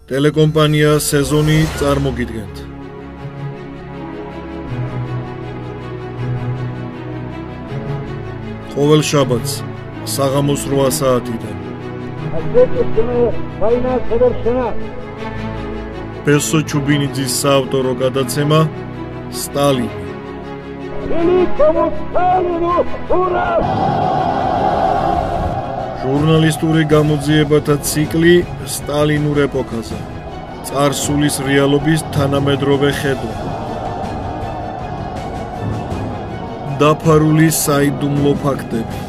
ტელეკომპანია სეზონი წარმოგიდგენთ. ყოველ შაბათს საღამოს 8 საათიდან. ბესო ჩუბინიძის საავტორო გადაცემა სტალინი. ჟურნალისტური გამოძიებათა ციკლი სტალინურ ეპოქაზე. წარსულის რეალობის თანამედროვე ხედვა. დაფარული საიდუმლო ფაქტები.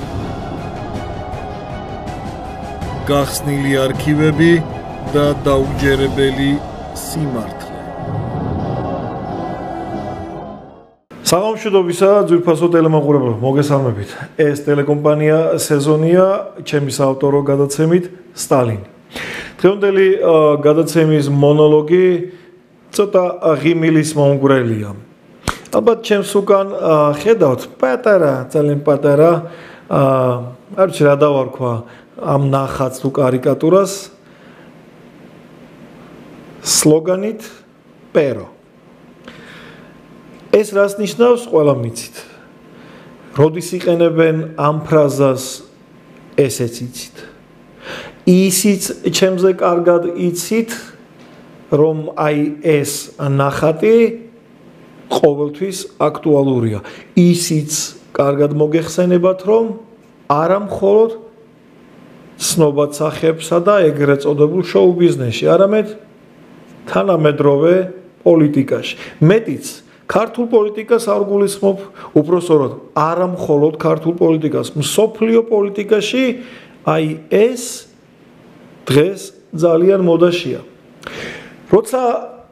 გახსნილი არქივები და დაუჯერებელი სიმართლე. საღამოშიდობისა ძვირფასო ტელემაყურებელო, მოგესალმებით. ეს ტელეკომპანია სეზონია ჩემი საავტორო გადაცემით სტალინი. დღევანდელი გადაცემის მონოლოგი ცოტა ღიმილის მომგვრელია. ალბათ ჩემს უკან ხედავთ პატარა, ძალიან პატარა, არ ვიცი რა დავარქვა ამ ნახატს თუ კარიკატურას. სლოგანით პერო. ეს რას ნიშნავს, ყველამ იცით. როდის იყენებენ ამ ფრაზას, ესეც იცით. ისიც ჩემზე კარგად იცით, რომ აი ეს ნახატი ყოველთვის აქტუალურია. ისიც კარგად მოგეხსენებათ, რომ არა მხოლოდ ცნობად სახეებსა და ეგრეთ წოდებულ შოუ ბიზნესში, არამედ თანამედროვე პოლიტიკაში. მეტიც ქართულ პოლიტიკას არ გულისხმობ, უпростоროდ არა მხოლოდ ქართულ პოლიტიკას, მსოფლიო პოლიტიკაში აი ეს დღეს ძალიან მოდაშია. როცა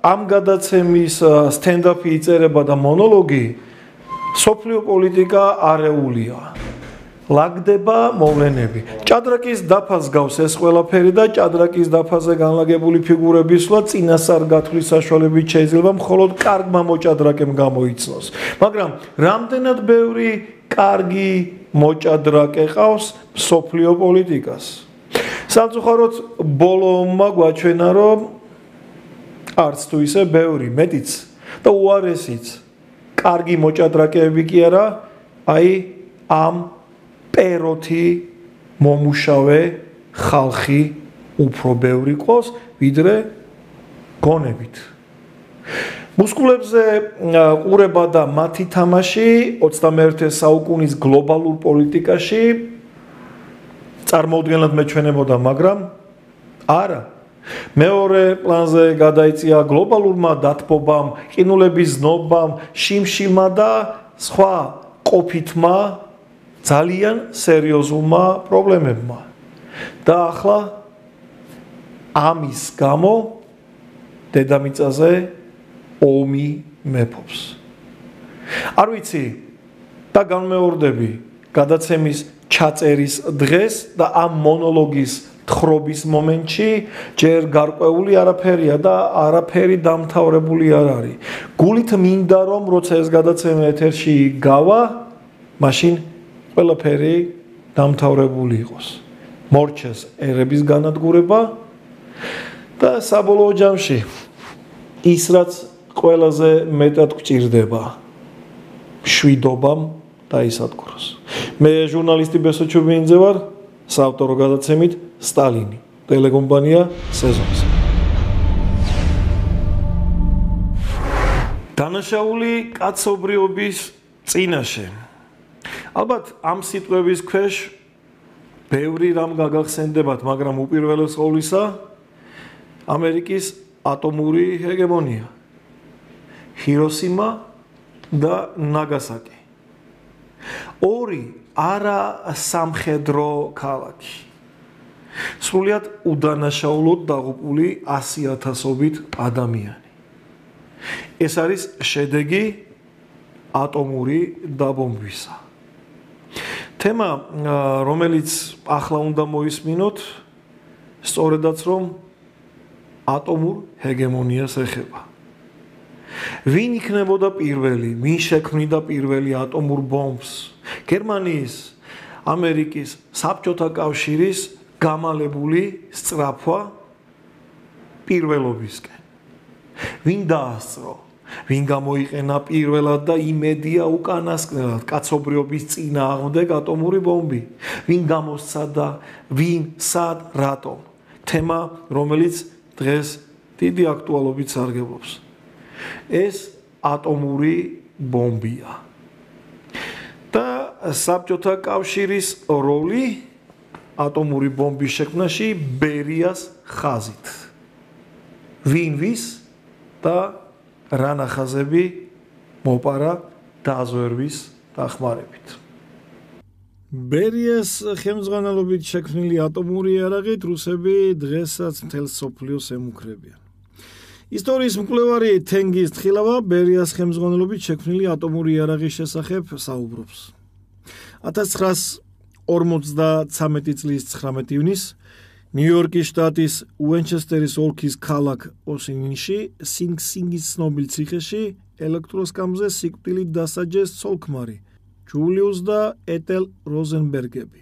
ამ გადაცემის სტენდაპი იწერება და მონოლოგი, მსოფლიო პოლიტიკა არეულია. ლაგდება მოვლენები. ჭადრაკის დაფას გავს ეს ყველაფერი და ჭადრაკის დაფაზე განლაგებული ფიგურების სვლა წინასწარ გათვლის საშუალებით შეიძლება მხოლოდ კარგმა მოჭადრაკემ გამოიცნოს. მაგრამ რამდენად ბევრი კარგი მოჭადრაკე ყავს მსოფლიო პოლიტიკას? სამწუხაროდ ბოლომმა გვაჩვენა, რომ არც თუ ისე ბევრი, მეტიც და უარესიც კარგი მოჭადრაკეები კი არა, აი ამ პეროთი მომუშავე ხალხი უფრო ბევრი ყავს, ვიდრე გონებით. მუსკულებზე ყურება და მათი თამაში 21 საუკუნის გლობალურ პოლიტიკაში წარმოუდგენლად მეჩვენებოდა, მაგრამ არა. მეორე პლანზე გადაიწია გლობალურმა დათბობამ, ყინულების ზნობამ, შიმშილმა და სხვა ყოფითმა ძალიან სერიოზულმა პრობლემებმა. და ახლა ამის გამო დედამიწაზე ომი მეფობს. არ ვიცი და განმეორდები გადაცემის ჩაწერის დღეს და ამ მონოლოგის თხრობის მომენტში ჯერ გარკვეული არაფერია და არაფერი დამთავრებული არ არის. გულით მინდა რომ როცა ეს გადაცემა ეთერში გავა, მაშინ ყველაფერი დამთავრებული იყოს. მორჩეს ერების განადგურება და საბოლოო ჯამში ის რაც ყველაზე მეტად გვჭირდება, მშვიდობამ დაისადგუროს. მე ჟურნალისტი ბესო ჩუბინიძე ვარ, საავტორო გადაცემით სტალინი, ტელეკომპანია სეზონზე. დანაშაული კაცობრიობის წინაშე. ალბათ ამ სიტყვების ქვეშ ბევრი რამ გაგახსენდებათ, მაგრამ უპირველეს ყოვლისა ამერიკის ატომური ჰეგემონია. ჰიროსიმა და ნაგასაკი. ორი არა სამხედრო ქალაქი. სრულიად უდანაშაულოდ დაღუპული 100,000-ობით ადამიანი. ეს არის შედეგი ატომური დაბომბვისა. თემა, რომელიც ახლა უნდა მოისმინოთ, სწორედაც რომ ატომურ ჰეგემონიას ეხება. ვინ იქნებოდა პირველი, ვინ შექმნიდა პირველი ატომურ ბომბს? გერმანიის, ამერიკის, საბჭოთა კავშირის გამალებული სწრაფვა პირველობისკენ. ვინ დაასწრო? ვინ გამოიყენა პირველად და იმედია უკანასკნელად კაცობრიობის წინააღმდეგ ატომური ბომბი? ვინ გამოსცადა? ვინ, სად, რატომ? თემა, რომელიც დღეს დიდი აქტუალობით სარგებლობს. ეს ატომური ბომბია. და საბჭოთა კავშირის როლი ატომური ბომბის შექმნაში ბერიას ხაზით. ვინ ვის და რა ნახაზები მოპარა დაზვერვის დახმარებით. ბერიას ხელმძღვანელობით შექმნილი ატომური იარაღით რუსები დღესაც მთელ მსოფლიოს ემუქრებიან. ისტორიის მკვლევარი თენგიზ თხილავა ბერიას ხელმძღვანელობით შექმნილი ატომური იარაღის შესახებ საუბრობს. 1953 წლის 19 ივნისს ნიუ-იორკის შტატის უენჩესტერის ოლქის ქალაქ ოსინინში სინგ-სინგის ცნობილ ციხეში ელექტროსკამზე სიკვდილით დასაჯეს ცოლ-ქმარი ჯულიუს და ეტელ როზენბერგები.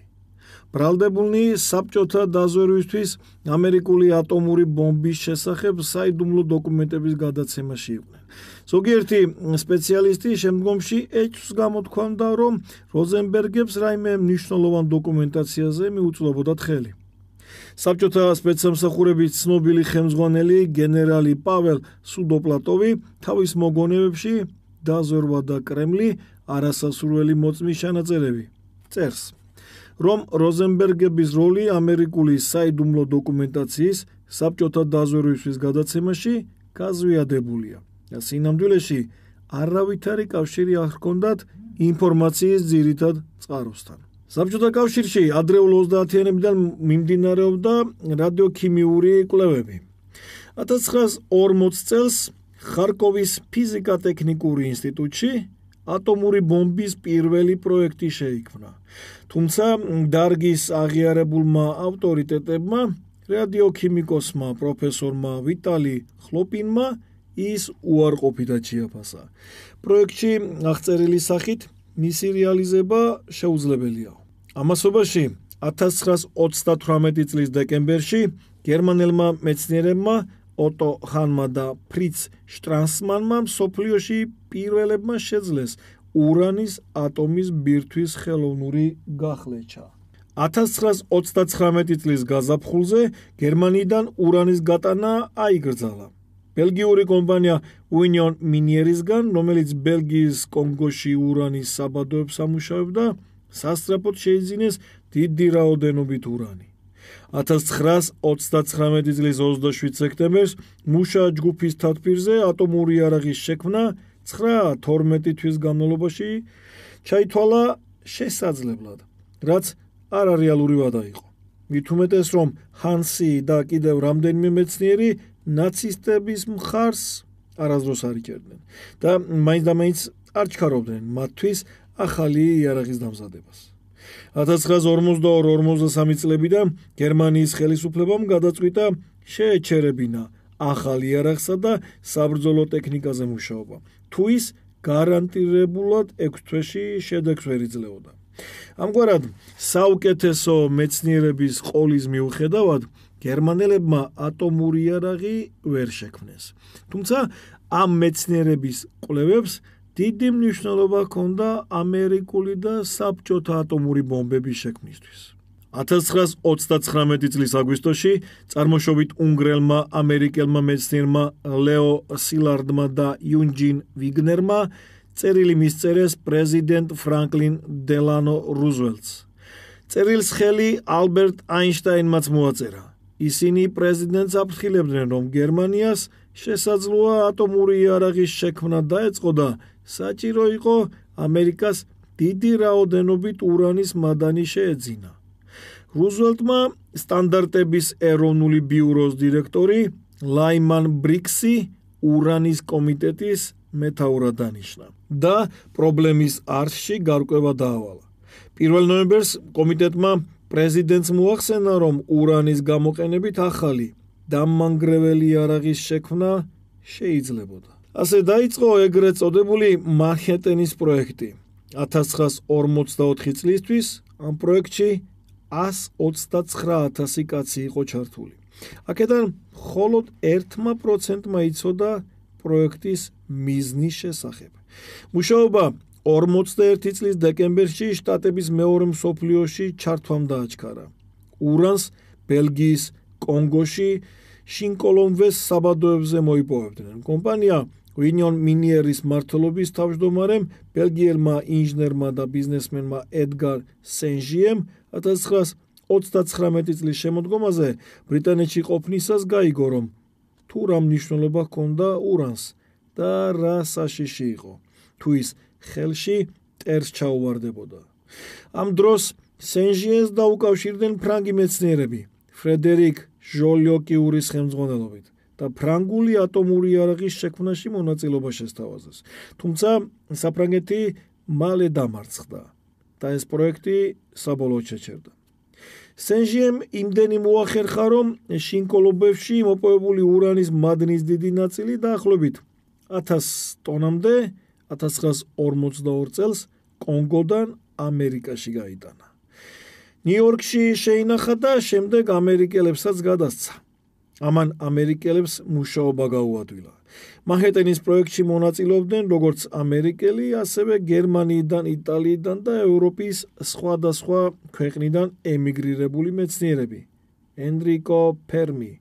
ბრალდებულნი საბჭოთა დაზვერვისთვის ამერიკული ატომური ბომბის შესახებ საიდუმლო დოკუმენტების გადაცემაში იყვნენ. ზოგიერთი სპეციალისტი შემდგომში ეჭვს გამოთქვამდა, რომ როზენბერგებს რაიმე მნიშვნელოვან დოკუმენტაციაზე მიუწვდებოდათ ხელი. საბჭოთა სპეცსამსახურების ცნობილი ხელმძღვანელი გენერალი პაվել სუდოპლატოვი თავის მოგონებებში დაზვერვა და კრემლი არასასურველი მოწმის ჩანაწერები წერს, რომ როზენბერგების როლი ამერიკული საიდუმლო დოკუმენტაციის საბჭოთა დაზვერვისთვის გადაცემაში გაზვიადებულია და სინამდვილეში არავითარი კავშირი არ ჰქონდათ ინფორმაციის ძირითად წყაროსთან. საბჭოთა კავშირში ადრეულ 30-იანებიდან მიმდინარეობდა რადიოქიმიური კვლევები. 1940 წელს ხარკოვის ფიზიკა-ტექნიკური ინსტიტუტში ატომური ბომბის პირველი პროექტი შეიქმნა. თუმცა დარგის აღიარებულმა ავტორიტეტებმა, რადიოქიმიკოსმა პროფესორმა ვიტალი ხლოპინმა ის უარყოფითად შეაფასა. პროექტში აღწერილი სახით მისი რეალიზება შეუძლებელია. ამასობაში 1938 წლის დეკემბერში გერმანელმა მეცნიერებმა ოტო ჰანმა და ფრიც შტრასმანმა მსოფლიოში პირველებმა შეძლეს ურანის ატომის ბირთვის ხელოვნური გახლეჩა. 1939 წლის გაზაფხულზე გერმანიიდან ურანის გატანა აიგრძალა. ბელგიური კომპანია უინიონ მინიერისგან, რომელიც ბელგიის კონგოში ურანის საბადოებს ამუშავებდა, სასწრაფოდ შეიძინეს დიდი რაოდენობით ურანი. 1939 წლის 27 სექტემბერს მუშა ჯგუფის თათბირზე ატომური იარაღის შექმნა 9-12 თვის განმავლობაში ჩაითვალა შესაძლებლად, რაც არარეალური ვადა იყო. მით უმეტეს, რომ ჰანსი და კიდევ რამდენიმე მეცნიერი ნაცისტების მხარს არასდროს არ იჭერდნენ და მაინც არ ჩქარობდნენ მათთვის ახალი იარაღის დამზადებას. 1942-43 წლებიდან გერმანიის ხელისუფლებამ გადაწყვიტა შეეჩერებინა ახალ იარაღსა და საბრძოლო ტექნიკაზე მუშაობა. თუ ის გარანტირებულად 6 თვეში შედეგს ვერ იძლეოდა. ამგვარად, საუკეთესო მეცნიერების ყოლის მიუხედავად, გერმანელებმა ატომური იარაღი ვერ შექმნეს. თუმცა ამ მეცნიერების კვლევებს დიდი მნიშვნელობა ჰქონდა ამერიკული და საბჭოთა ატომური ბომბების შექმნისთვის. 1939 წლის აგვისტოში წარმოშობით უნგრელმა ამერიკელმა მეცნიერმა ლეო სილარდმა და იუნჯინ ვიგნერმა წერილი მისწერეს პრეზიდენტ ფრანკლინ დელანო რუზველტს. წერილს ხელი ალბერტ აინშტაინმაც მოაწერა. ისინი პრეზიდენტს აფრთხილებდნენ, რომ გერმანიას შესაძლოა ატომური იარაღის შექმნა დაეწყო და საჭირო იყო ამერიკას დიდი რაოდენობით ურანის მადანი შეეძინა. რუზველტმა სტანდარტების ეროვნული ბიუროს დირექტორი ლაიმან ბრიქსი ურანის კომიტეტის მეთაურად დანიშნა და პრობლემის არსში გარკვევა დაავალა. 1 ნოემბერს კომიტეტმა პრეზიდენტს მოახსენა, რომ ურანის გამოყენებით ახალი დამანგრეველი იარაღის შექმნა შეიძლებოდა. ასე დაიწყო ეგრეთ წოდებული მანჰეტენის პროექტი. 1944 წლისთვის ამ პროექტში 129,000 კაცი იყო ჩართული. აქედან მხოლოდ 1%-მა იცოდა პროექტის მიზნის შესახებ. მუშაობა 41 წლის დეკემბერში შტატების მეორე მსოფლიოში ჩართვამ დააჩქარა. ურანს ბელგიის კონგოში შინკოლომვეს საბადოებზე მოიპოვებდნენ. კომპანია Union Minieris მმართველობის თავმჯდომარემ, ბელგიელმა ინჟინერმა და ბიზნესმენმა ედგარ სენჟიემ 1939 წლის შემოდგომაზე ბრიტანეთში ყოფნისას გაიგო, რომ თუ რა მნიშვნელობა ჰქონდა ურანს და რა საშიში იყო, თუ ის ხელში ტერს ჩაუვარდებოდა. ამ დროს სენჟიენს დაუკავშირდნენ ფრანგი მეცნიერები ფრედერიკ ჟოლიოკიურის ხელმძღვანელობით და ფრანგული ატომური იარაღის შექმნაში მონაწილეობა შესთავაზეს. თუმცა საფრანგეთი მალე დამარცხდა და ეს პროექტი საბოლოოდ შეჩერდა. სენჟიემ იმდენი მოახერხა, რომ შინკოლობებში მოპოვებული ურანის მადნის დიდი ნაწილი დაახლოებით 1000 ტონამდე 1942 წელს კონგოდან ამერიკაში გაიტანა. ნიუ-იორკში შეინახა და შემდეგ ამერიკელებსაც გადასცა. ამან ამერიკელებს მუშაობა გაუადვილა. მანჰეტენის პროექტში მონაწილეობდნენ როგორც ამერიკელი, ასევე გერმანიიდან, იტალიიდან და ევროპის სხვადასხვა ქვეყნიდან ემიგრირებული მეცნიერები. ენრიკო ფერმი,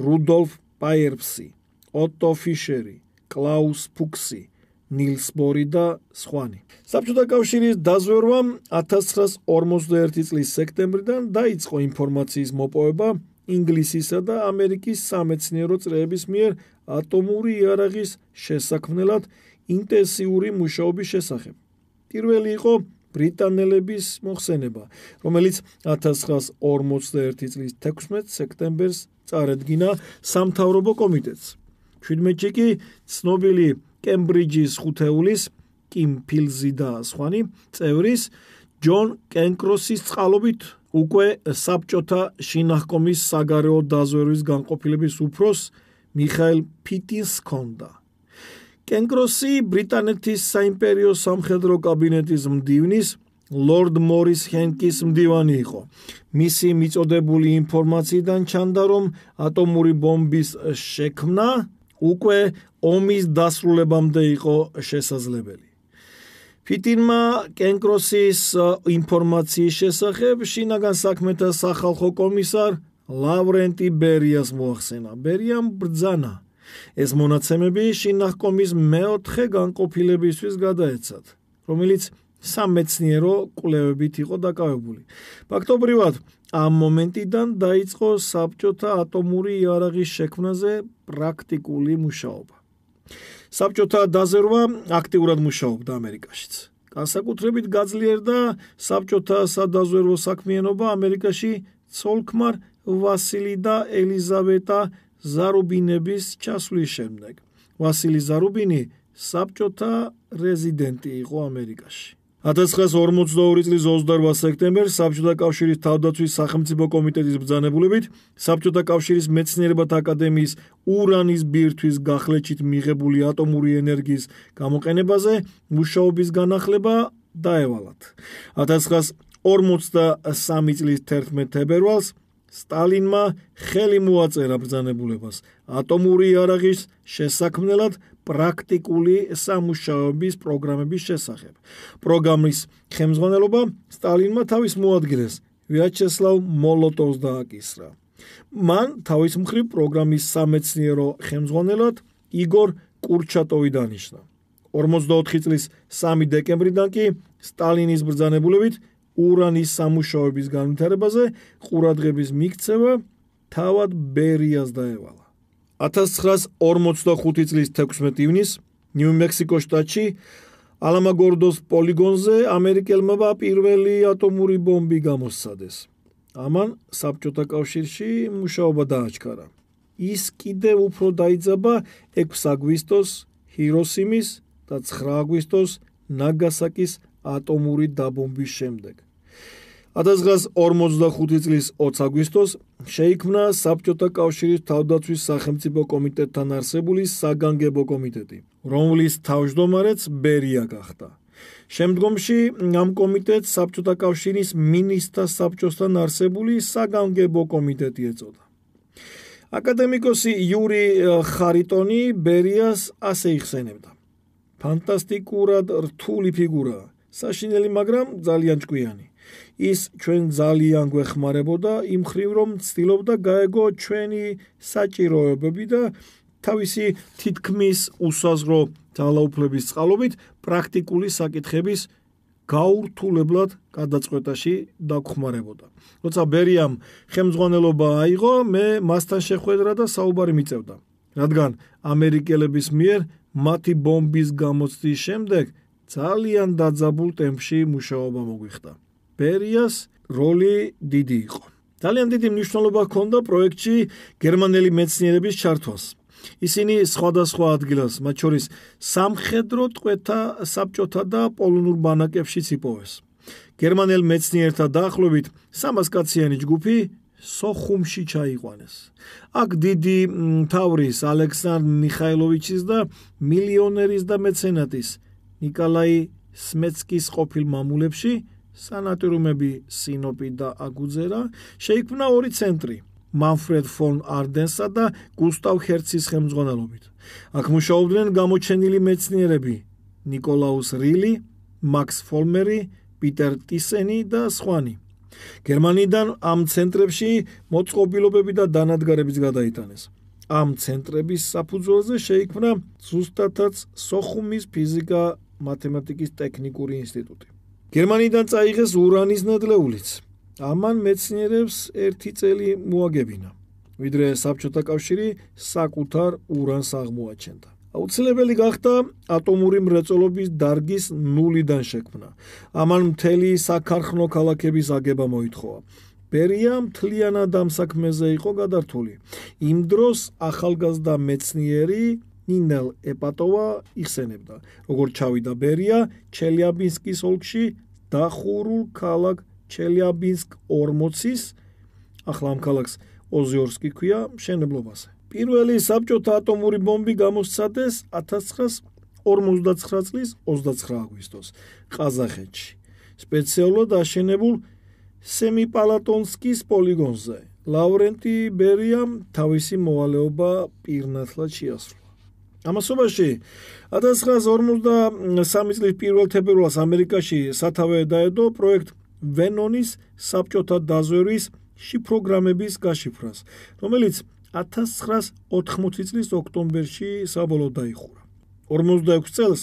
რუდოლფ პაიერსი, ოტო ფიშერი, კლაუს ფუქსი, ნილს ბორი და სხვანი. საბჭოთა კავშირის დაზვერვამ 1941 წლის სექტემბრიდან დაიწყო ინფორმაციის მოპოვება ინგლისისა და ამერიკის სამეცნიერო წრეების მიერ ატომური იარაღის შესაქმნელად ინტენსიური მუშაობის შესახებ. პირველი იყო ბრიტანელების მოხსენება, რომელიც 1941 წლის 16 სექტემბერს წარედგინა სამთავრობო კომიტეტს. 17-ში კი ცნობილი კემბრიჯის ხუთეულის კიმ ფილზი და სხვანი წევრის ჯონ კენკროსის წყალობით უკვე საბჭოთა შინაჰკომის საგარეო დაზვერვის განყოფილების უფროს მიხაილ ფიტინს ჰქონდა. კენკროსი ბრიტანეთის საიმპერიო სამხედრო კაბინეტის მდივნის ლორდ მორის ჰენკის მდივანი იყო. მისი მიწოდებული ინფორმაციიდან ჩანდა, რომ ატომური ბომბის შექმნა უკვე ომის დასრულებამდე იყო შესაძლებელი. ფიტინმა კენკროსის ინფორმაციის შესახებ შინაგან საქმეთა სახალხო კომისარ ლავრენტი ბერიას მოახსენა. ბერიამ ბრძანა ეს მონაცემები შინაჰკომის მეოთხე განყოფილებისთვის გადაეცათ, რომელიც სამეცნიერო კვლევებით იყო დაკავებული. ფაქტობრივად, ამ მომენტიდან დაიწყო საბჭოთა ატომური იარაღის შექმნაზე პრაქტიკული მუშაობა. საბჭოთა დაზერვა აქტიურად მუშაობდა ამერიკაშიც. განსაკუთრებით გაძლიერდა საბჭოთა სადაზვერვო საქმიანობა ამერიკაში ცოლ-ქმარ ვასილი და ელიზავეტა ზარუბინების ჩასვლის შემდეგ. ვასილი ზარუბინი საბჭოთა რეზიდენტი იყო ამერიკაში. 1942 წლის 28 სექტემბერს საბჭოთა კავშირის თავდაცვის სახელმწიფო კომიტეტის ბრძანებულებით საბჭოთა კავშირის მეცნიერებათა აკადემიის ურანის ბირთვის გახლეჩით მიღებული ატომური ენერგიის გამოყენებაზე მუშაობის განახლება დაევალათ. 1943 წლის 11 თებერვალს სტალინმა ხელი მოაწერა ბრძანებულებას ატომური იარაღის შესაქმნელად პრაქტიკული სამუშაოების პროგრამების შესახებ. პროგრამის ხელმძღვანელობა სტალინმა თავის მოადგილეს ვიაჩესლავ მოლოტოვს დააკისრა. მან თავის მხრივ პროგრამის სამეცნიერო ხელმძღვანელად იგორ კურჩატოვი დანიშნა. 44 წლის 3 დეკემბრიდან კი სტალინის ბრძანებულებით ურანის სამუშაოების განვითარებაზე ყურადღების მიქცევა თავად ბერიას დაევალა. 1945 წლის 16 ივნისს ნიუ-მექსიკოს შტატში ალამაგორდოს პოლიგონზე ამერიკელმა პირველი ატომური ბომბი გამოსცადეს. ამან საბჭოთა კავშირში მუშაობა დააჩქარა. ის კიდევ უფრო დაიძაბა 6 აგვისტოს ჰიროსიმის და 9 აგვისტოს ნაგასაკის ატომური დაბომბვის შემდეგ. 1945 წლის 20 აგვისტოს შეიქმნა საბჭოთა კავშირის თავდაცვის სახელმწიფო კომიტეტთან არსებული საგანგებო კომიტეტი, რომლის თავმჯდომარეც ბერია გახდა. შემდგომში ამ კომიტეტს საბჭოთა კავშირის მინისტრთა საბჭოსთან არსებული საგანგებო კომიტეტი ეწოდა. აკადემიკოსი იური ხარიტონი ბერიას ასე იხსენებდა. ფანტასტიკურად რთული ფიგურაა, საშინელი, მაგრამ ძალიან ჭკვიანი. ის ჩვენ ძალიან გვეხმარებოდა იმ მხრივ, რომ ცდილობდა გაეგო ჩვენი საჭიროებები და თავისი თითქმის უსაზღვრო ძალაუფლების წყალობით პრაქტიკული საკითხების გაურთულებლად გადაწყვეტაში დაგხმარებოდა. როცა ბერიამ ხელმძღვანელობა აიღო, მე მასთან შეხვედრა და საუბარი მიწევდა, რადგან ამერიკელების მიერ მათი ბომბის გამოცდის შემდეგ ძალიან დაძაბულ ტემპში მუშაობა მოგვიხდა. ბერიას როლი დიდი იყო. ძალიან დიდი მნიშვნელობა ჰქონდა პროექტში გერმანელი მეცნიერების ჩართვას. ისინი სხვადასხვა ადგილას, მათ შორის სამხედრო ტყვეთა საბჭოთა და პოლონურ ბანაკებშიც იპოვეს. გერმანელ მეცნიერთა დაახლოებით 300 კაციანი ჯგუფი სოხუმში ჩაიყვანეს. აქ დიდი მთავრის ალექსანდრ მიხაილოვიჩის და მილიონერის და მეცენატის ნიკოლაი სმეცკის ყოფილ მამულებში, სანატორიუმები სინოპი და აგუძერა, შეიქმნა ორი ცენტრი, მანფრედ ფონ არდენსა და გუსტავ ჰერცის ხელმძღვანელობით. აქ მუშაობდნენ გამოჩენილი მეცნიერები ნიკოლაუს რილი, მაქს ფოლმერი, პიტერ ტისენი და სხვანი. გერმანიიდან ამ ცენტრებში მოწყობილობები და დანადგარებიც გადაიტანეს. ამ ცენტრების საფუძველზე შეიქმნა ზუსტადაც სოხუმის ფიზიკა-მათემატიკის ტექნიკური ინსტიტუტი. გერმანიიდან წაიღეს ურანის ნედლეულიც. ამან მეცნიერებს 1 წელი მოაგებინა, ვიდრე საბჭოთა კავშირი საკუთარ ურანს აღმოაჩენდა. აუცილებელი გახდა ატომური მრეწველობის დარგის ნულიდან შექმნა. ამან მთელი საქარხნო ქალაქების აგება მოითხოვა. ბერია მთლიანად ამ საქმეზე იყო გადართული. იმ დროს ახალგაზრდა მეცნიერი ნინელ ეპატოვა იხსენებდა, როგორ ჩავიდა ბერია ჩელიაბინსკის ოლქში დახურულ ქალაქ ჩელიაბინსკ 40-ის, ახლა ამ ქალაქს ოზიორსკი ქვია, მშენებლობაზე. პირველი საბჭოთა ატომური ბომბი გამოსცადეს 1959 წლის 29 აგვისტოს ყაზახეთში, სპეციალურად აშენებულ სემიპალატონსკის პოლიგონზე. ლავრენტი ბერიამ თავისი მოვალეობა პირნათლად შეასრულა. ამასობაში 1953 წლის 1 თებერვალს ამერიკაში სათავე დაედო პროექტ ვენონის საბჭოთა დაზვერვის შიფროგრამების გაშიფრას, რომელიც 1980 წლის ოქტომბერში საბოლოოდ დაიხურა. 46 წელს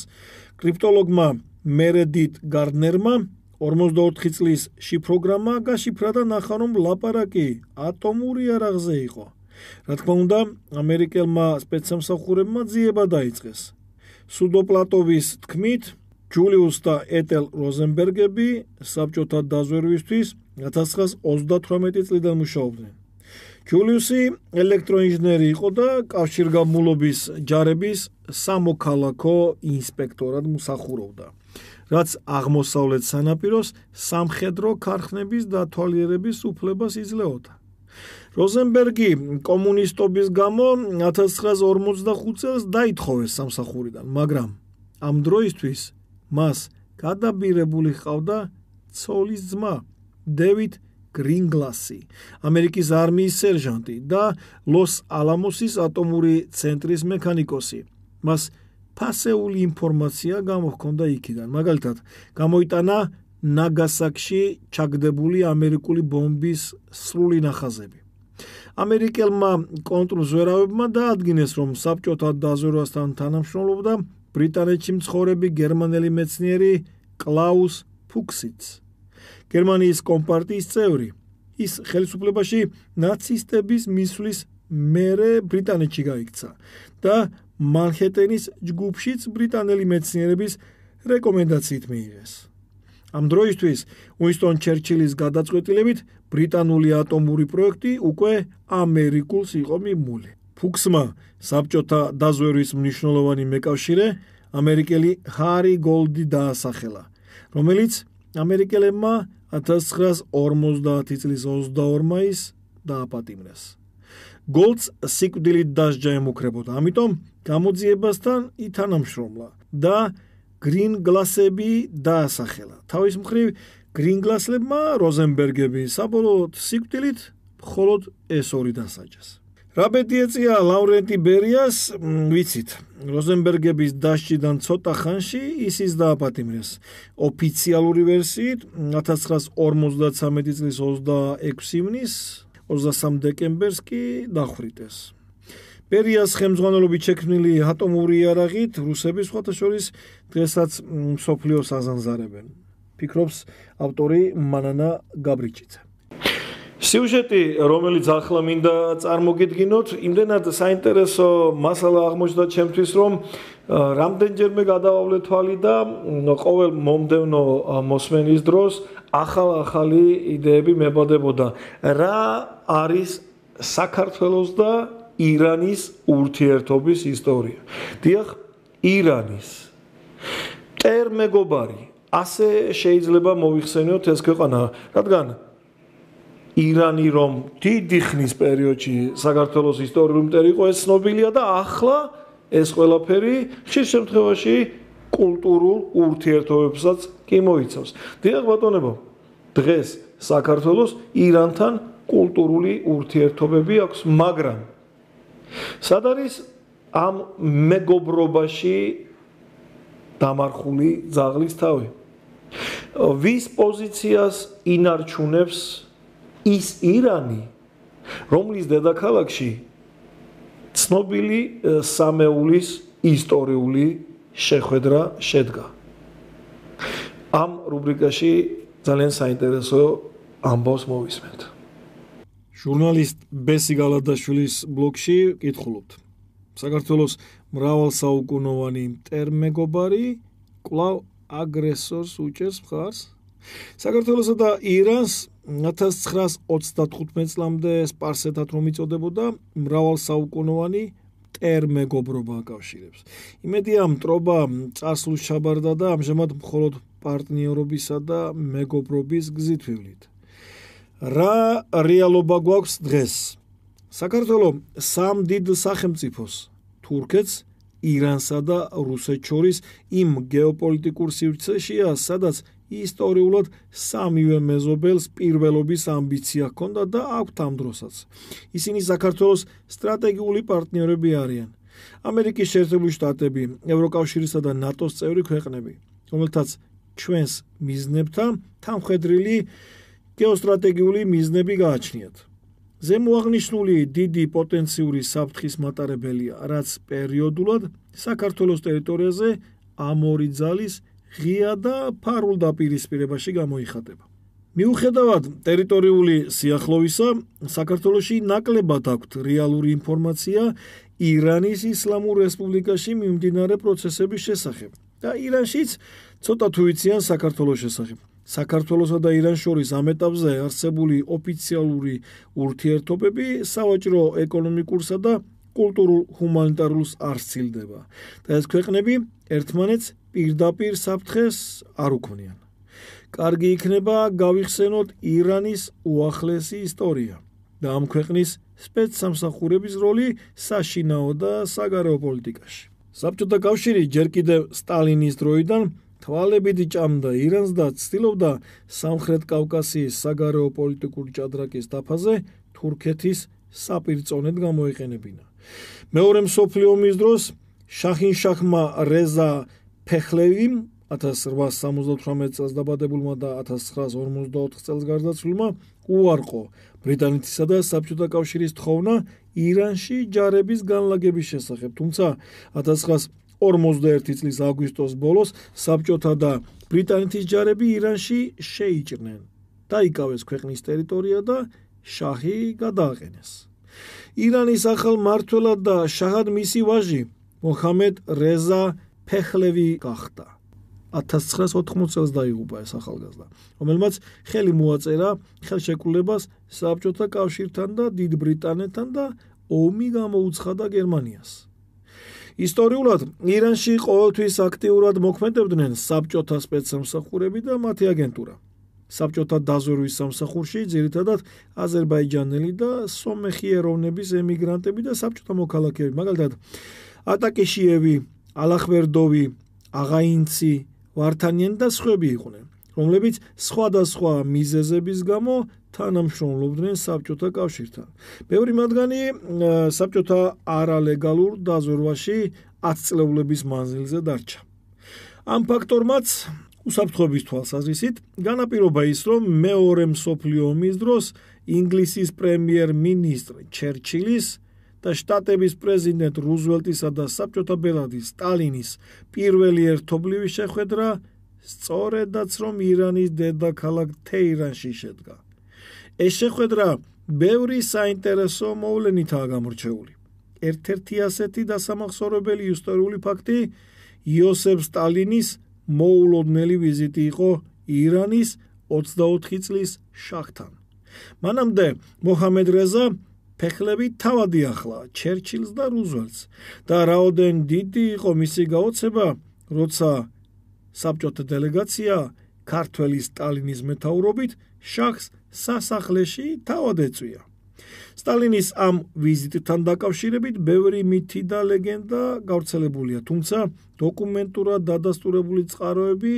კრიპტოლოგმა მერედით გარდნერმა 44 წლის შიფროგრამა გაშიფრა და ნახა, რომ ლაპარაკი ატომური იარაღზე იყო. რა თქმა უნდა, ამერიკელმა სპეცსამსახურებმა ძიება დაიწყეს. სუდოპლატოვის თქმით, ჯულიუს და ეტელ როზენბერგები საბჭოთა დაზვერვისთვის 1938 წლიდან მუშაობდნენ. ჯულიუსი ელექტროინჟინერი იყო და კავშირგაბმულობის ჯარების სამოქალაქო ინსპექტორად მსახურობდა, რაც აღმოსავლეთ სანაპიროს სამხედრო ქარხნების დათვალიერების უფლებას იძლეოდა. როზენბერგი კომუნისტობის გამო 1945 წელს დაითხოვეს სამსახურიდან, მაგრამ ამ დროისთვის მას გადაბირებული ჰყავდა ცოლის ძმა, დევიდ გრინგლასი, ამერიკის არმიის სერჟანტი და ლოს-ალამოსის ატომური ცენტრის მექანიკოსი. მას ფასეული ინფორმაცია გამოჰქონდა იქიდან. მაგალითად, გამოიტანა ნაგასაკში ჩაგდებული ამერიკული ბომბის სრული ნახაზები. ამერიკელმა კონტრზვერავებმა დაადგინეს, რომ საბჭოთა დაზვერვასთან თანამშრომლობდა ბრიტანეთში მცხოვრები გერმანელი მეცნიერი კლაუს ფუქსიც. გერმანიის კომპარტიის წევრი. ის ხელისუფლებაში ნაცისტების მისვლის მერე ბრიტანეთში გაიქცა და მანჰეტენის ჯგუფშიც ბრიტანელი მეცნიერების რეკომენდაციით მიიღეს. ამ დროისთვის უინსტონ ჩერჩილის გადაწყვეტილებით ბრიტანული ატომური პროექტი უკვე ამერიკულს იყო მიმული. ფუქსმა საბჭოთა დაზვერვის მნიშვნელოვანი მეკავშირე ამერიკელი ჰარი გოლდი დაასახელა, რომელიც ამერიკელებმა 1950 წლის 22 მაისს დააპატიმრეს. გოლდს სიკვდილით დასჯა ემუქრებოდა, ამიტომ გამოძიებასთან ითანამშრომლა და გრინგლასები დაასახელა. თავის მხრივ გრინგლასლებმა როზენბერგები საბოლოოდ სიკვდილით მხოლოდ ეს ორი დასაჯეს. რა ბედი ეწია ლავრენტი ბერიას, ვიცით. როზენბერგების დასჯიდან ცოტა ხანში ისიც დააპატიმრეს. ოფიციალური ვერსიით 1953 წლის 26 ივნის 23 დეკემბერს კი დახვრიტეს. ბერიას ხელმძღვანელობით შექმნილი ატომური იარაღით რუსები სხვათა შორის დღესაც მსოფლიოს აზანზარებენ. ფიქრობს ავტორი მანანა გაბრიჩიძე. სიუჟეტი, რომელიც ახლა მინდა წარმოგიდგინოთ, იმდენად საინტერესო მასალა აღმოჩნდა ჩემთვის, რომ რამდენჯერმე გადავავლე თვალი და ყოველ მომდევნო მოსმენის დროს ახალი იდეები მებადებოდა. რა არის საქართველოს და ირანის ურთიერთობის ისტორია? დიახ, ირანის მტერ მეგობარი, ასე შეიძლება მოიხსენიოთ ეს ქვეყანა, რადგან ირანი რომ დიდი ხნის პერიოდში საქართველოს ისტორიული მტერი იყო, ეს ცნობილია და ახლა ეს ყველაფერი ხშირ შემთხვევაში კულტურულ ურთიერთობებსაც კი მოიცავს. დიახ ბატონებო, დღეს საქართველოს ირანთან კულტურული ურთიერთობები აქვს, მაგრამ სად არის ამ მეგობრობაში დამარხული ძაღლის თავი? ვის პოზიციას ინარჩუნებს ის ირანი, რომლის დედაქალაქში ცნობილი სამეულის ისტორიული შეხვედრა შედგა? ამ რუბრიკაში ძალიან საინტერესო ამბავს მოვისმენთ. ჟურნალისტ ბესი გალადაშვილის ბლოგში კითხულობთ. საქართველოს მრავალსაუკუნოვანი მტერმეგობარი კვლავ აგრესორს უჭერს მხარს? საქართველოსა და ირანს 1935 წლამდე სპარსეთად რომ იწოდებოდა, მრავალსაუკუნოვანი მტერმეგობრობა აკავშირებს. იმედია მტრობა წარსულს ჩაბარდა და ამჟამად მხოლოდ პარტნიორობისა და მეგობრობის გზით ვივლით. რა რეალობა გვაქვს დღეს? საქართველოს სამ დიდ სახელმწიფოს, თურქეთს, ირანსა და რუსეთს შორის იმ გეოპოლიტიკურ სივრცეშია, სადაც ისტორიულად სამივე მეზობელს პირველობის ამბიცია ჰქონდა და აქვთ ამ დროსაც. ისინი საქართველოს სტრატეგიული პარტნიორები არიან. ამერიკის შეერთებული შტატები, ევროკავშირისა და ნატოს წევრი ქვეყნები, რომელთაც ჩვენს მიზნებთან თანმხედრილი გეოსტრატეგიული მიზნები გააჩნიათ. ზემოაღნიშნული დიდი პოტენციური საფრთხის მატარებელია, რაც პერიოდულად საქართველოს ტერიტორიაზე ამ ორი ძალის ღია და ფარულ დაპირისპირებაში გამოიხატება. მიუხედავად ტერიტორიული სიახლოვისა, საქართველოში ნაკლებად აქვთ რეალური ინფორმაცია ირანის ისლამურ რესპუბლიკაში მიმდინარე პროცესების შესახებ და ირანშიც ცოტა თუ ვიციან საქართველოს შესახებ. საქართველოსა და ირანს შორის ამ ეტაპზე არსებული ოფიციალური ურთიერთობები სავაჭრო ეკონომიკურსა და კულტურულ ჰუმანიტარულს არ სცილდება და ეს ქვეყნები ერთმანეთს პირდაპირ საფრთხეს არ უქმნიან. კარგი იქნება გავიხსენოთ ირანის უახლესი ისტორია და ამ ქვეყნის სპეცსამსახურების როლი საშინაო და საგარეო პოლიტიკაში. საბჭოთა კავშირი ჯერ კიდევ სტალინის დროიდან თვალებით ჭამდა ირანს და ცდილობდა სამხრეთ კავკასიის საგარეო პოლიტიკური ჭადრაკის დაფაზე თურქეთის საპირწონედ გამოეყენებინა. მეორე მსოფლიო ომის დროს შაჰინშაჰმა რეზა ფეხლევიმ 1878 წელს დაბადებულმა და 1954 წელს გარდაცვლილმა უარყო ბრიტანეთისა და საბჭოთა კავშირის თხოვნა ირანში ჯარების განლაგების შესახებ, თუმცა 1951 წლის აგვისტოს ბოლოს საბჭოთა და ბრიტანეთის ჯარები ირანში შეიჭრნენ. დაიკავეს ქვეყნის ტერიტორია და შაჰი გადააყენეს. ირანის ახალ მმართველად და შაჰად მისი ვაჟი მოჰამედ რეზა ფეხლევი გახდა. 1980 წელს დაიღუპა ეს ახალგაზრდა, რომელმაც ხელი მოაწერა ხელშეკრულებას საბჭოთა კავშირთან და დიდ ბრიტანეთთან და ომი გამოუცხადა გერმანიას. ისტორიულად ირანში ყოველთვის აქტიურად მოქმედებდნენ საბჭოთა სპეცსამსახურები და მათი აგენტურა. საბჭოთა დაზვერვის სამსახურში ძირითადად აზერბაიჯანელი და სომეხი ეროვნების ემიგრანტები და საბჭოთა მოქალაქეები, მაგალითად ატაკეშიევი, ალახვერდოვი, აღაინცი, ვართანიანი და სხვები იყვნენ, რომლებიც სხვადასხვა მიზეზების გამო თანამშრომლობდნენ საბჭოთა კავშირთან. ბევრი მათგანი საბჭოთა არალეგალურ დაზვერვაში 10 წლეულების მანძილზე დარჩა. ამ ფაქტორმაც უსაფრთხოების თვალსაზრისით განაპირობა ის, რომ მეორე მსოფლიო ომის დროს ინგლისის პრემიერ-მინისტრ ჩერჩილის და შტატების პრეზიდენტ რუზველტისა და საბჭოთა ბელადის სტალინის პირველი ერთობლივი შეხვედრა სწორედაც რომ ირანის დედაქალაქ თეირანში შედგა. ეს შეხვედრა ბევრი საინტერესო მოვლენითაა გამორჩეული. ერთ-ერთი ასეთი დასამახსოვრებელი ისტორიული ფაქტი იოსებ სტალინის მოულოდნელი ვიზიტი იყო ირანის 24 წლის შაჰთან. მანამდე მოჰამედ რეზა ფეხლები თავადი ახლა ჩერჩილს და რუზველტს და რაოდენ დიდი იყო მისი გაოცება, როცა საბჭოთა დელეგაცია ქართველი სტალინის მეთაურობით შაჰს სასახლეში თავად ეწვია. სტალინის ამ ვიზიტთან დაკავშირებით ბევრი მითი და ლეგენდა გავრცელებულია, თუმცა დოკუმენტურად დადასტურებული წყაროები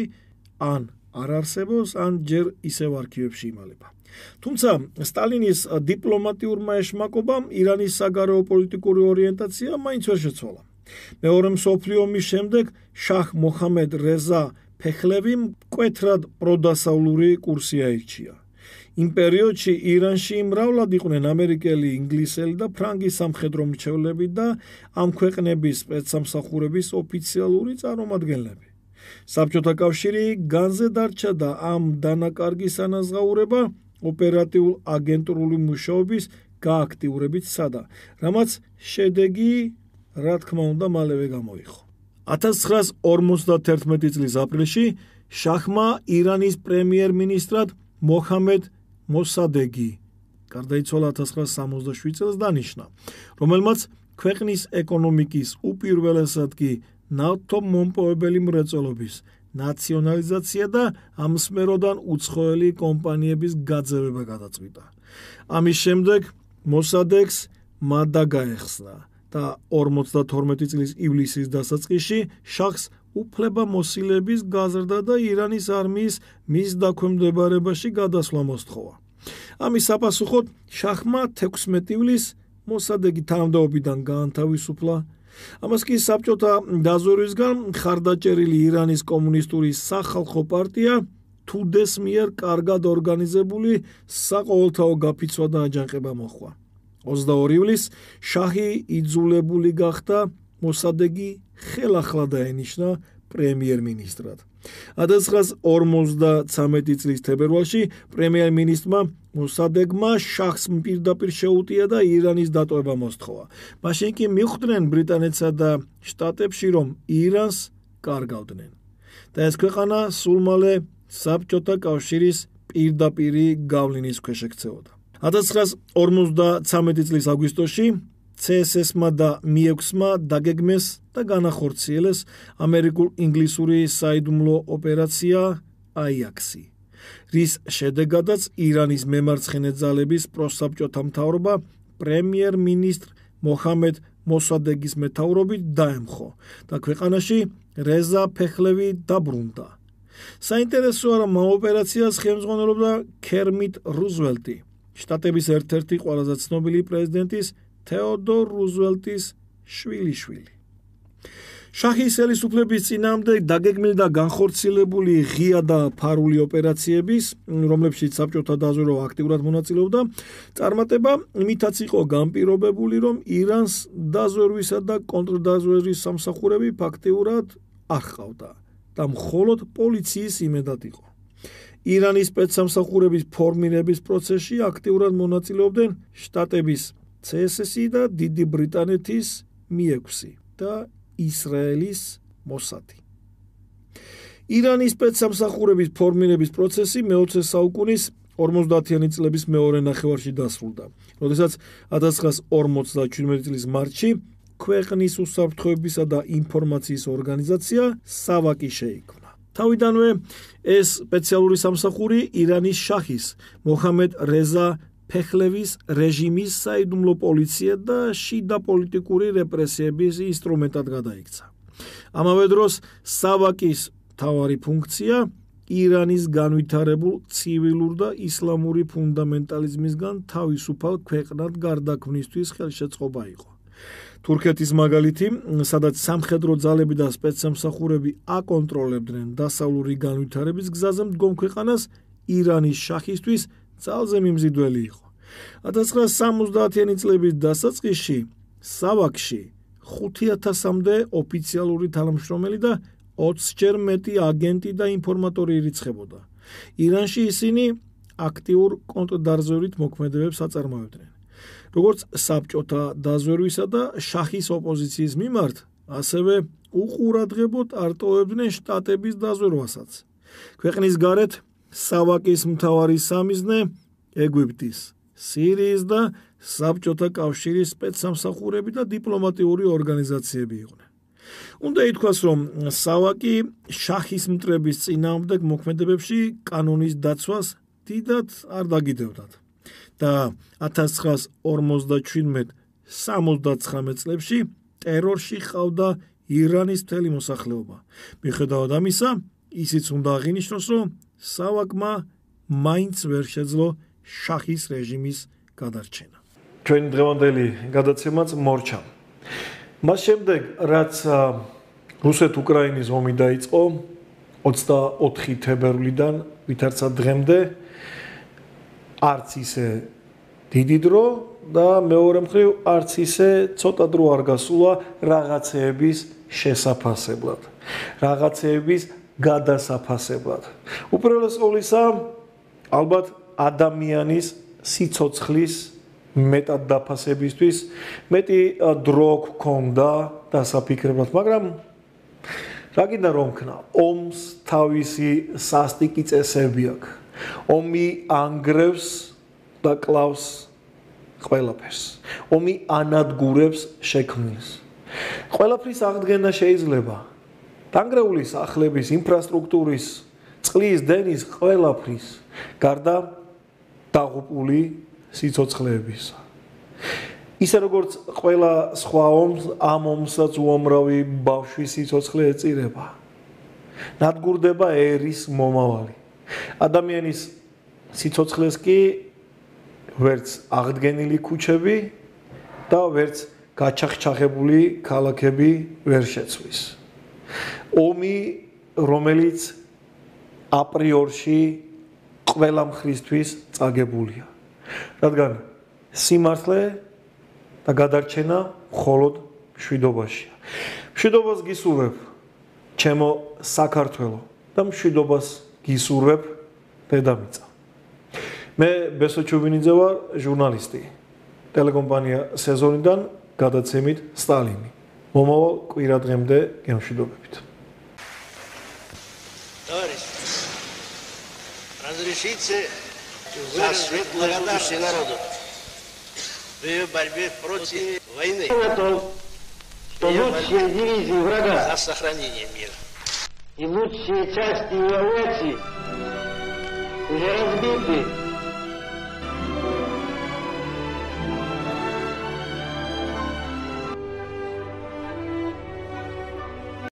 ან არ არსებობს, ან ჯერ ისევ არქივებში იმალება. თუმცა სტალინის დიპლომატიურმა ეშმაკობამ ირანის საგარეო პოლიტიკური ორიენტაცია მაინც ვერ შეცვალა. მეორე მსოფლიო ომის შემდეგ შაჰ მოჰამედ რეზა ფეხლევი მკვეთრად პროდასავლური კურსი აირჩია. იმ პერიოდში ირანში მრავლად იყვნენ ამერიკელი, ინგლისელი და ფრანგი სამხედრო მრჩევლები და ამ ქვეყნების სპეცსამსახურების ოფიციალური წარმომადგენლები. საბჭოთა კავშირი განზე დარჩა და ამ დანაკარგის ანაზღაურება ოპერატიულ აგენტურული მუშაობის გააქტიურებით სცადა, რამაც შედეგი რა თქმა უნდა მალევე გამოიღო. 1951 წლის აპრილში შაჰმა ირანის პრემიერ-მინისტრად მოჰამედ მოსადეგი გარდაიცვალა 1967 წელს დანიშნა, რომელმაც ქვეყნის ეკონომიკის უპირველესად კი ნავთობმომპოვებელი მრეწველობის ნაციონალიზაცია და ამ სფეროდან უცხოელი კომპანიების გაძევება გადაწყვიტა. ამის შემდეგ მოსადეგს მადდა გაეხსნა და 52 წლის ივლისის დასაწყისში შაჰს უფლება მოსილების გაზრდა და ირანის არმიის მის დაქვემდებარებაში გადასვლა მოსთხოვა. ამის საპასუხოდ შაჰმა 16 ივლისს მოსადეგი თანამდებობიდან გაანთავისუფლა. ამას კი საბჭოთა დაზვერვისგან მხარდაჭერილი ირანის კომუნისტური სახალხო პარტია თუდეს მიერ კარგად ორგანიზებული საყოველთაო გაფიცვა და აჯანყება მოჰყვა. 22 ივლისს შაჰი იძულებული გახდა მოსადეგი ხელახლა დაენიშნა პრემიერ-მინისტრად. 1953 წლის თებერვალში პრემიერ-მინისტრმა მოსადეგმა შაჰს პირდაპირ შეუტია და ირანის დატოვება მოსთხოვა. მაშინ კი მიხვდნენ ბრიტანეთსა და შტატებში, რომ ირანს კარგავდნენ და ეს ქვეყანა სულ მალე საბჭოთა კავშირის პირდაპირი გავლენის ქვეშ ექცეოდა. 1953 წლის აგვისტოში CSS-მა და MI6-მა დაგეგმეს და განახორციელეს ამერიკულ-ინგლისური საიდუმლო ოპერაცია აიაქსი, რის შედეგადაც ირანის მემარცხენე ძალების პროსაბჭოთა მთავრობა პრემიერ-მინისტრ მოჰამედ მოსადეგის მეთაურობით დაემხო და ქვეყანაში რეზა ფეხლევი დაბრუნდა. საინტერესოა, რომ ამ ოპერაციას ხელმძღვანელობდა ქერმიტ რუზველტი, შტატების ერთ-ერთი ყველაზე ცნობილი პრეზიდენტის თეოდორ რუზველტის შვილიშვილი. შაჰის ხელისუფლების წინააღმდეგ დაგეგმილი და განხორციელებული ღია და ფარული ოპერაციების, რომლებშიც საბჭოთა დაზვერვა აქტიურად მონაწილეობდა, წარმატება იმითაც იყო განპირობებული, რომ ირანს დაზვერვისა და კონტრდაზვერვის სამსახურები ფაქტიურად არ ჰყავდა და მხოლოდ პოლიციის იმედად იყო. ირანის სპეცსამსახურების ფორმირების პროცესში აქტიურად მონაწილეობდნენ შტატების CSS და დიდი ბრიტანეთის MI6 და ისრაელის მოსადი. ირანის სპეცსამსახურების ფორმირების პროცესი მე-20 საუკუნის 50-იანი წლების მეორე ნახევარში დასრულდა, როდესაც 1957 წლის მარტში ქვეყნის უსაფრთხოებისა და ინფორმაციის ორგანიზაცია SAVAK-ი შეიქმნა. თავიდანვე ეს სპეციალური სამსახური ირანის შაჰის მოჰამედ რეზა ფეხლევის რეჟიმის საიდუმლო პოლიცია და შიდა პოლიტიკური რეპრესიების ინსტრუმენტად გადაიქცა. ამავე დროს SAVAK-ის მთავარი ფუნქცია ირანის განვითარებულ ცივილურ და ისლამური ფუნდამენტალიზმისგან თავისუფალ ქვეყნად გარდაქმნისთვის ხელშეწყობა იყო. თურქეთის მაგალითი, სადაც სამხედრო ძალები და სპეცსამსახურები აკონტროლებდნენ დასავლური განვითარების გზაზე მდგომ ქვეყანას, ირანის შაჰისთვის ძალზე მიმზიდველი იყო. 1970-იანი წლების დასაწყისში სავაკში 5000-მდე ოფიციალური თანამშრომელი და 20-ჯერ მეტი აგენტი და ინფორმატორი ირიცხებოდა. ირანში ისინი აქტიურ კონტრდაზვერვით მოქმედებებს აწარმოებდნენ. როგორც საბჭოთა დაზვერვისა და შაჰის ოპოზიციის მიმართ, ასევე უყურადღებოდ არტოვებდნენ შტატების დაზვერვასაც. ქვეყნის გარეთ სავაკის მთავარი სამიზნე ეგვიპტის, სირიის და საბჭოთა კავშირის სპეცსამსახურები და დიპლომატიური ორგანიზაციები იყვნენ. უნდა ითქვას, რომ სავაკი შაჰის მტრების წინააღმდეგ მოქმედებებში კანონის დაცვას დიდად არ დაგიდევდათ და 1957-79 წლებში ტერორში ყავდა ირანის მთელი მოსახლეობა. მიუხედავად ამისა, ისიც უნდა აღინიშნოს, რომ სავაკმა მაინც ვერ შეძლო შაჰის რეჟიმის გადარჩენა. ჩვენი დღევანდელი გადაცემაც მორჩა. მას შემდეგ, რაც რუსეთ-უკრაინის ომი დაიწყო 24 თებერვლიდან ვითარცა დღემდე, არც ისე დიდი დრო და მეორე მხრივ არც ისე ცოტა დრო არ გასულა რაღაცეების შესაფასებლად, რაღაცეების გადასაფასებლად. უპირველეს ყოვლისა, ალბათ ადამიანის სიცოცხლის მეტად დაფასებისთვის მეტი დრო გქონდა დასაფიქრებლად, მაგრამ რა გინდა რომ ქნა, ომს თავისი სასტიკი წესები აქვს. ომი ანგრევს და კლავს ყველაფერს. ომი ანადგურებს შექმნილს. ყველაფრის აღდგენა შეიძლება. დანგრეული სახლების, ინფრასტრუქტურის, წყლის, დენის, ყველაფრის, გარდა დაღუპული სიცოცხლეებისა. ისე როგორც ყველა სხვა ომს, ამ ომსაც უამრავი ბავშვის სიცოცხლე ეწირება. ნადგურდება ერის მომავალი. ადამიანის სიცოცხლეს კი ვერც აღდგენილი ქუჩები და ვერც გაჩახჩახებული ქალაქები ვერ შეცვლის. ომი, რომელიც აპრიორში ყველა მხრისთვის წაგებულია. რადგან სიმართლე და გადარჩენა მხოლოდ მშვიდობაშია. მშვიდობას გისურვებ ჩემო საქართველო და მშვიდობას გისურვებ დედამიწა. მე ბესო ჩუბინიძე ვარ, ჟურნალისტი. ტელეკომპანია სეზონიდან გადაცემით სტალინი. მომავალ კვირადღემდე გემშვიდობებით. Товарищи, разрешите за светлую душу народу в ее борьбе против войны. Что лучшие дивизии врага За сохранение мира. и лучшие части его авиации уже разбиты